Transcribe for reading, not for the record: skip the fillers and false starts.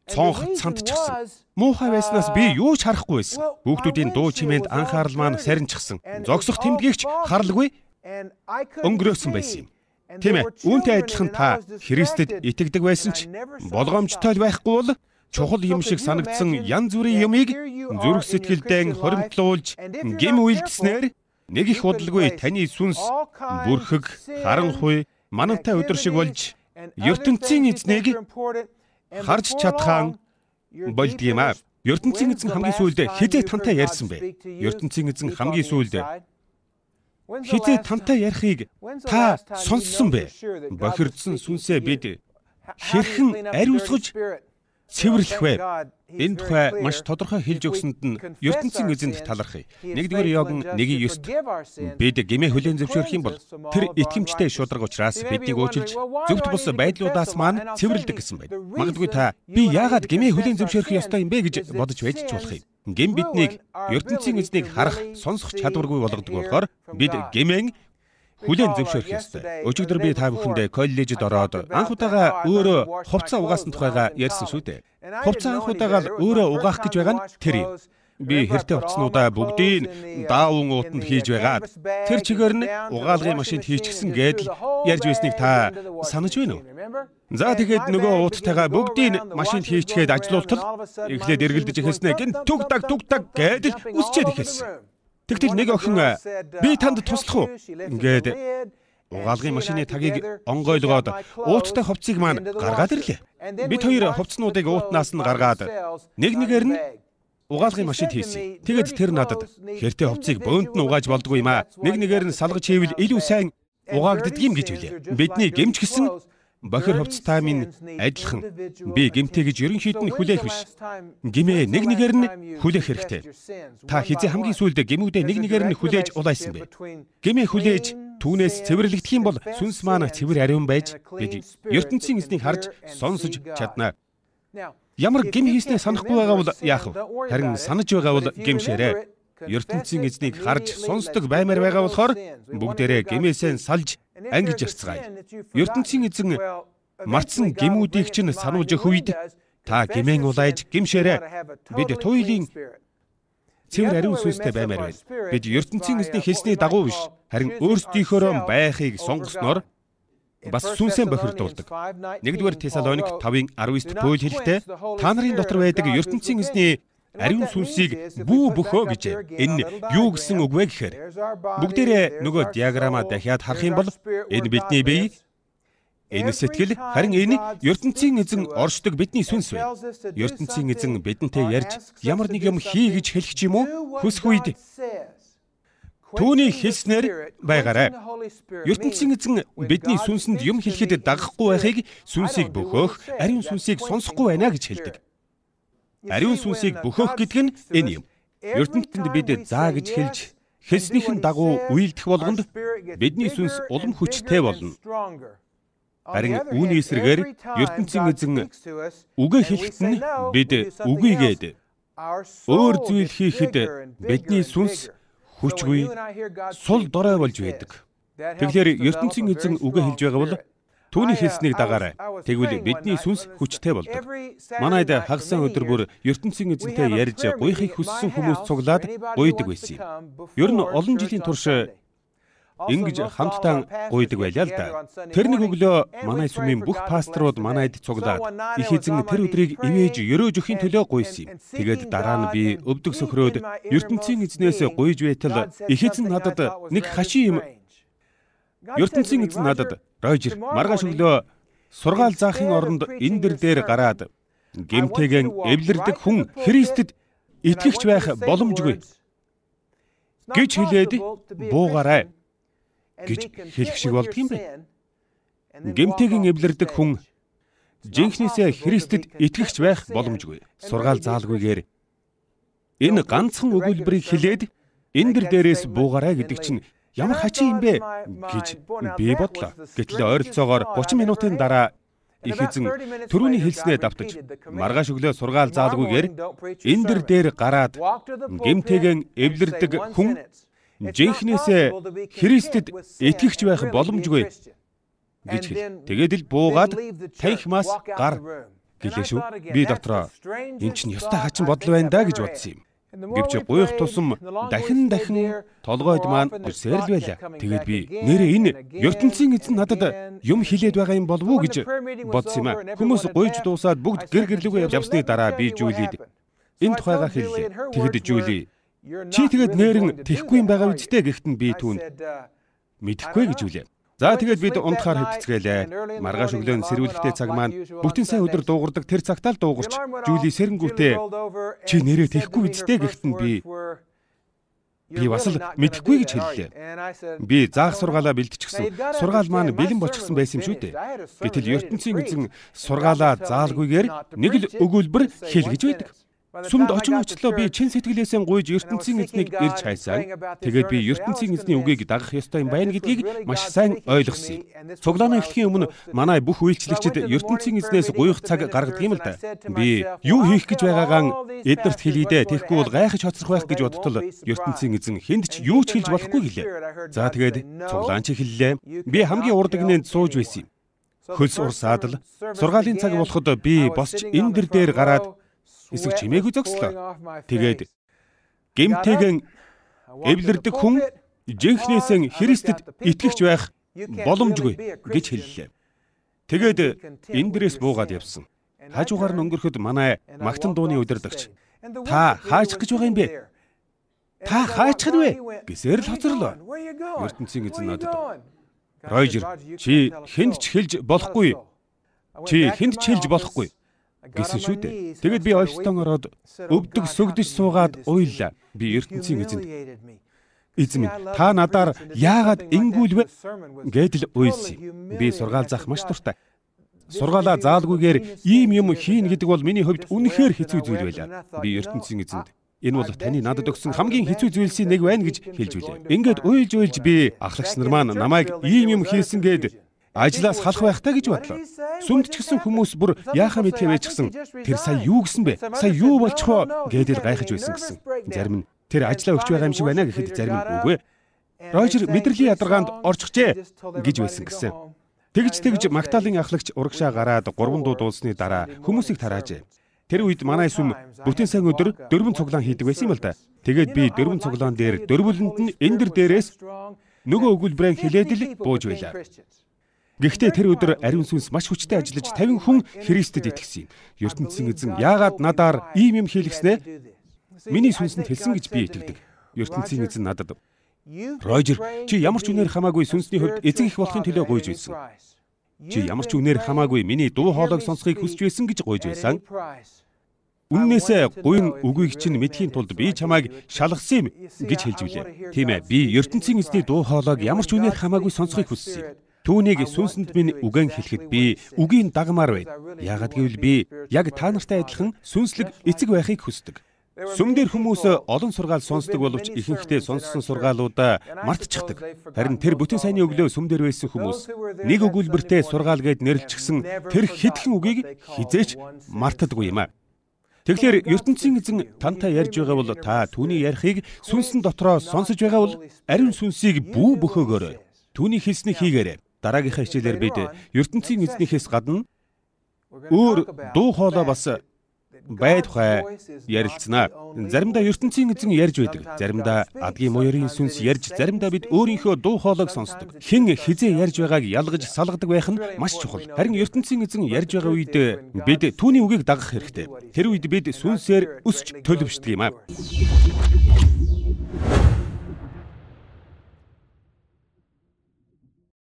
цонх цантчихсан. Муухай байснаас би юу ч харахгүй байсан. Хүүхдүүдийн дуу чимээнд анхаарал маань сарничсан. Зогсох тэмдгийгч харалгүй өнгөрөөсөн байсан юм. Тийм ээ, үүнтэй адилхан та Христэд итгэдэг байсан ч болгоомжтой байхгүй бол чухал юм шиг санагдсан янз бүрийн юмыг зүрх сэтгэлдээ хоримтлуулж гим үйлдэснээр нэг их удалгүй таны сүнс бүрхэг, харанхуй, манантай өдөр шиг болж ертөнцийн эзнийг харж чадхаан болдгийм аа. ертөнцийн эзэн хамгийн сүүлд хизээ тантай ярьсан бэ? ертөнцийн эзэн хамгийн сүүлд хизээ тантай ярихыг та сонссон бэ? Бохирдсон сүнсээ бид хэрхэн ариусгаж цэвэрлэх вэ? Энэ тухай маш тодорхой хэлж өгсөнд нь ертөнцийн эзэнд талархъя. 1-р Иоганн 1:9 бид гэмээ хүлээн зөвшөөрөх юм бол тэр итгэмжтэй шударга учраас биднийг уучилж зөвхт бус байдлуудаас маань цэвэрлдэг гэсэн байна. Магадгүй та би яагаад гэмээ хүлээн зөвшөөрөх ёстой юм бэ гэж бодож байж ч болох юм. Гэм биднийг ертөнцийн эзнийг харах, сонсох чадваргүй болгодог болохоор бид гэмээн хүлээн зөвшөөрөх ёстой. Өчигдөр би та бүхэндээ коллежид ороод анх удаага өөрөө хувцас угаасан тухайга ярьсан шүү дээ. Хувцас анх удаага өөрөө угаах гэж байгаа нь тэр юм. Би хэртэй хувцснуудаа бүгдийг даавн уутанд хийж байгаад тэр чигээр нь угаалгын машинд хийчихсэн гэдэл ярьж байсныг та санаж байна уу? За тэгээд нөгөө ууттайгаа бүгдийг машинд хийчихэд ажилуултал эхлээд эргэлдэж эхэлснэ гин түг даг гэдэл үсчээд эхэлсэн. Тэгтэл нэг охин би танд туслах уу гээд угаалгын машины тагийг онгойлгоод ууттай хувцсыг маань гаргаад ирлээ. Бид хоёр хувцснуудыг уутнаас нь гаргаад нэгээр нь угаалгын машинд хийсэн. Тэгээд тэр надад хэртэй хувцсыг бөөнд нь угааж болдгүй юм аа. Нэгээр нь салгаж хийвэл илүү сайн угаагддаг юм гэж хэлээ. Бидний гэмч гисэн бохир хувцастай минь адилхан. Би гэмтэй гэж ерөнхийд нь хүлээх биш. Гэмээ нэгээр нь хүлээх хэрэгтэй. Та хизээ хамгийн сүүлд гэмүүдээ нэгээр нь хүлээж улайсан бэ? Гэмээ хүлээж түүнээс цэвэрлэгдэх юм бол сүнс маань цэвэр ариун байж бид ертөнцийн эзнийг харж сонсож чадна. Ямар гэм хийснээ санахгүй байгаа бол яах вэ? Харин санаж байгаа бол гэмшээрэй. ертөнцийн эзнийг харж сонсдог баймаар байгаа болохоор бүгдээрээ гэмээсээ салж ангиж ярьцгаая. ертөнцийн эзэн мартсан гэмүүдийг чинь сануулж өгөх үед та гэмээн улайж гэмшээрэй. Бид туйлын цэвэр ариун сүнстэй баймаар байна. Бид ертөнцийн эзний хэлсний дагуу биш, харин өөрсдийнхөөрөө байхыг сонгосноор бас сүнсээ бохирдуулдаг. 1-р Тесалоник 5:19-т Паул хэлэхдээ та нарын дотор байдаг ертөнцийн эзний ариун сүнсийг бүү бөхөө гэж. Энэ юу гэсэн үг вэ гэхээр бүгдээрээ нөгөө диаграмаа дахиад харах юм бол энэ бидний бие, энэ сэтгэл, харин энэ ертөнцийн эзэн оршдог бидний сүнс вэ. ертөнцийн эзэн бидэнтэй ярьж ямар нэг юм хий гэж хэлэх ч юм уу хүсэх үед түүний хэлснээр байгаарай. ертөнцийн эзэн бидний сүнсэнд юм хэлэхэд дагахгүй байхыг сүнсийг бөхөөх, ариун сүнсийг сонсохгүй байна гэж хэлдэг. Ариун сүнсийг бөхөөх гэдэг нь энэ юм. ертөнцөнд бид заа гэж хэлж хэлснийхэн дагуу үйлдэх болгонд бидний сүнс улам хүчтэй болно. Харин үүний эсрэгээр ертөнцийн эзэн үгээ хэлэхэд нь бид үгүйгээд өөр зүйл хийхэд бидний сүнс хүчгүй, сул дорой болж байдаг. Тэгэхээр ертөнцийн эзэн үгээ хэлж байгаа бол түүний хэлснийг дагаарай. Тэгвэл бидний сүнс хүчтэй болдог. Манайд хагасан өдөр бүр ертөнцийн эзэнтэй ярьж гуйхыг хүссэн хүмүүс цуглаад гуйдаг байсан юм. Ер нь олон жилийн турш ингэж хамтдаа гуйдаг байлаа л да. Тэр нэг өглөө манай сүмийн бүх пасторууд манайд цуглаад их эзэн тэр өдрийг ивэж өрөөж өхийн төлөө гуйсан юм. Тэгээд дараа нь би өвдөг сөхрөөд ертөнцийн эзнээс гуйж байтал их эзэн надад нэг хашийн юм. ертөнцийн эзэн надад Рожер маргааш өглөө сургаал заахын оронд энэ дээр гараад гэмтэйгэн эвлэрдэг хүн Христэд итгэгч байх боломжгүй гэж хэлээд буугаарай гэж хэлэх шиг болдго юм бэ. Гэмтэйгэн эвлэрдэг хүн жинхнээсээ Христэд итгэгч байх боломжгүй. Сургаал заалгүйгээр энэ ганцхан өгүүлбэрийг хэлээд энэ дээрээс буугаарай гэдэг чинь ямар хачи юм бэ гэж би бодлоо. Гэтэл ойролцоогоор 30 минутын дараа их эзэн түрүүний хэлснээ давтаж маргааш өглөө сургаал заалгүйгээр энэ дээр гараад гэмтэйгэн эвлэрдэг хүн жинхнээсээ Христэд итгэгч байх боломжгүй гэж хэл. Тэгээд л буугаад танхимаас гар Гэлээ шүү. Би дотроо эн чинь ёстой хачин бодол байна да гэж бодсон юм. Гэвч гуйх тусам дахин толгойд маань үсэрл байлаа. Тэгээд би нэрээ энэ ертөнцийн эзэн надад юм хэлээд байгаа юм болов уу гэж бодсон юм аа. Хүмүүс гуйж дуусаад бүгд гэр гэрлүүгээ явсны дараа би Жулид энэ тухайгаа хэллээ. Тэгэд Жули чи тэгээд нэрэн тэхгүй юм байгаа үстэй гэхдээ би түүнд мэдэхгүй гэж үлээ. За тэгээд бид унтахаар хэвтцгээлээ. Маргааш өглөө сэрүүлэгтэй цаг маань бүтэн сайн өдөр дуугардаг тэр цагтаа л дуугарч Жули сэрэнгүүтээ чи нэрээ тэхгүй үстэй гэхдээ би бас л мэдэхгүй гэж хэллээ. Би заах сургаалаа бэлтчихсэн. Сургаал маань бэлэн болчихсон байсан юм шүү дээ. Гэтэл ертөнцийн эзэн сургаалаа заалгүйгээр нэг л өгүүлбэр хэл гэж байдаг. Сүмд очин очлоо би чин сэтгэлээсээ гуйж ертөнцийн эзнийг ирж хайсан. Тэгээд би ертөнцийн эзний үгийг дагах ёстой юм байна гэдгийг маш сайн ойлгосон юм. Цуглааны эхлэхийн өмнө манай бүх үйлчлэгчид ертөнцийн эзнээс гуйх цаг гаргадаг юм л да. Би юу хийх гэж байгаагаа эднэрт хэлийдээ тэгэхгүй бол гайхаж хоцрох байх гэж бодтол ертөнцийн эзэн хүнд ч юу ч хэлж болохгүй гэлээ. За тэгээд цуглаанч хэллээ. Би хамгийн урд гинэнд сууж байсан юм. Хөлс урсаад л сургаалын цаг болоход би босч энэ дээр гараад эсэг чимээгүй зогслоо. Тэгээд гэмтэгэн эвлэрдэг хүн жинхнээсээ Христэд итгэгч байх боломжгүй гэж хэллээ. Тэгээд энэ дээрээс буугаад явсан. Хажуугаар нь өнгөрөхөд манай магтан дууны удирдагч та хаачих гэж байгаа юм бэ? Та хаачих нь вэ? Гэсээр л хоцорлоо. ертөнцийн эзэн надад Ройжер чи хэнд ч хэлж болохгүй. Чи хэнд ч хэлж болохгүй гэсэн шүү дээ. Тэгэд би офстон ороод өвдөг сүгдэж суугаад уйллаа. Би ертөнцийн эзэнд эзэн минь та надаар яагаад ингүүлвэ гэдэл уйлсан. Би сургаал заах маш дуртай. Сургаалаа заалгүйгээр ийм юм хийн гэдэг бол миний хувьд үнэхээр хэцүү зүйл байлаа. Би ертөнцийн эзэнд энэ бол таны надад өгсөн хамгийн хэцүү зүйлсийн нэг байна гэж хэлж билээ. Ингээд уйлж би ахлагч нар маань намайг ийм юм хийсэн гээд ажлаас халах байхтаа гэж бодлоо. Сүмд ч гэсэн хүмүүс бүр яахаа мэдхээ байчихсан. Тэр сая юу гэсэн бэ? Сая юу болчихвоо гэдэл гайхаж байсан гэсэн. Зарим нь тэр ажлаа өгч байгаа юм шиг байна гэхэд зарим нь үгүй. Ройжер мэдрэлийн ядаргаанд орчихжээ гэж байсан гэсэн. Тэгж Магдалины ахлагч урагшаа гараад 3 дуу дуулсны дараа хүмүүсийг тараажээ. Тэр үед манай сүм бүтэн сайн өдөр 4 цуглаан хийдэг байсан юм л да. Тэгээд би 4 цуглаан дээр дөрвөлөнд нь энэ дээрээс нөгөө өгүүлбэрээ хэлээд л бууж байлаа. Гэхдээ тэр өдөр ариун сүнс маш хүчтэй ажиллаж 50 хүн Христэд итгэсэн юм. ертөнцийн эзэн яагаад надаар ийм юм хийлгэснэ? Миний сүнсэнд хэлсэн гэж би итгэдэг. ертөнцийн эзэн надад Ройжер чи ямар ч үнээр хамаагүй сүнсний хувьд эзэн их болохын төлөө гуйж байсан. Чи ямар ч үнээр хамаагүй миний дуу хоолойг сонсохыг хүсэж байсан гэж гуйж байсан. Үннээсээ гуйн үгийг чинь мэдхийн тулд би чамайг шалгасан юм гэж хэлж билээ. Тийм ээ, би ертөнцийн эзний дуу хоолойг ямар ч үнээр хамаагүй сонсохыг хүссэн юм. Түүнийг сүнсэнд минь үгэн хэлэхэд би үгийн дагмаар байна. Яагад гэвэл би яг та нартай адилхан сүнслэг эцэг байхыг хүсдэг. Сүмдэр хүмүүс олон сургаал сонсдог боловч ихэнхдээ сонссон сургаалуудаа мартчихдаг. Харин тэр бүтэн сайнны өглөө сүмдэр байсан хүмүүс нэг өгүүлбэртэй сургаал гэд нэрлэлчихсэн тэр хэдхэн үгийг хизээч мартдаггүй юм аа. Тэгэхээр ертөнцийн эзэн тантай ярьж байгаа бол та түүний ярихыг сүнсэн дотроо сонсож байгаа бол ариун сүнсийг бүү бөхөөгөөрэй. Түүний хэлснийг хийгээрэй. Дараагийнхаа хичээлээр бид ертөнцийн эзнийхээс гадна өөр дуу хоолой бас бай тухай ярилцсанаа. Заримдаа ертөнцийн эзэн ярьж байдаг. Заримдаа адгийн муурын сүнс ярьж, заримдаа бид өөрийнхөө дуу хоолойг сонсдог. Хэн хизээ ярьж байгааг ялгаж салгадаг байх нь маш чухал. Харин ертөнцийн эзэн ярьж байгаа үед бид түүний үгийг дагах хэрэгтэй. Тэр үед бид сүнсээр өсч төлөвшдөг юм аа.